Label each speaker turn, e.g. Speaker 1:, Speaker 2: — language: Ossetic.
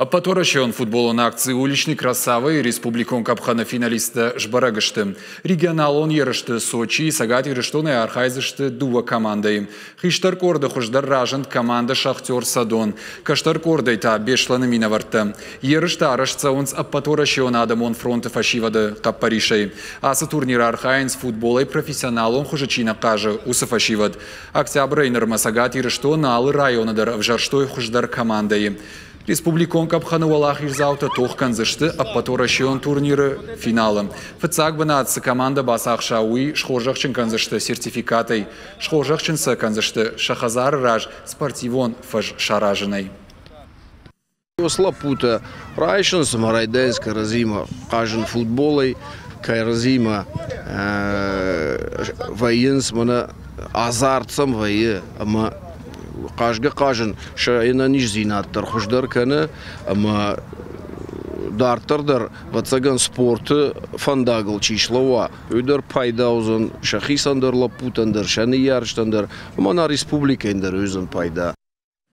Speaker 1: Ӕппӕтуӕрӕсеон футболон акци «Уличный красава»-йы республикон къӕпхӕны финалисттӕ сбӕрӕг сты. Регионалон ерысты Сочийы Цӕгат Ирыстонӕй архайдзысты дыууӕ командӕйы. Хистӕр къорды хуыздӕр разынд командӕ «Шахтер Садон», кӕстӕр къордӕй та Беслӕны минӕвӕрттӕ. Ерыстӕ арӕзт цӕуынц Ӕппӕтуӕрӕсеон адӕмон фронты фӕсивӕды хъӕппӕрисӕй. Ацы турниры архайынц футболӕй профессионалон хуызы чи нӕ хъазы, уыцы фӕсивӕд. Октябрӕй нырмӕ Цӕгат Ирыстоны алы районы дӕр ӕвзӕрстой хуыздӕр командӕйы. Республикон къӕпхӕны уӕлахиздзаутӕ тох кӕндзысты ӕппӕтуӕрӕсеон турниры финалы. Фыццаг бынат цы командӕ бацахса, уый схорзӕхджын кӕндзысты сертификатӕй. Схорзӕхджын сӕ кӕндзысты сӕ хӕдзары раз спортивон фӕз саразынӕй.
Speaker 2: Уыцы лӕппутӕ райсынц ӕмӕ райдайынц кӕрӕдзимӕ хъазын футболӕй, кӕрӕдзимӕ вӕййынц, мӕнӕ азарт сӕм вӕййы ӕмӕ хъазгӕ-хъазын сӕ ӕнӕниздзинад дӕр хуыздӕр кӕны ӕмӕ дарддӕр дӕр, ӕвӕццӕгӕн, спорты фӕндагыл чи слӕууа, уый дӕр пайда уыдзӕн сӕхицӕн дӕр, лӕппутӕн дӕр, сӕ ныййарджытӕн дӕр ӕмӕ нӕ республикӕйӕн дӕр уыдзӕн пайда.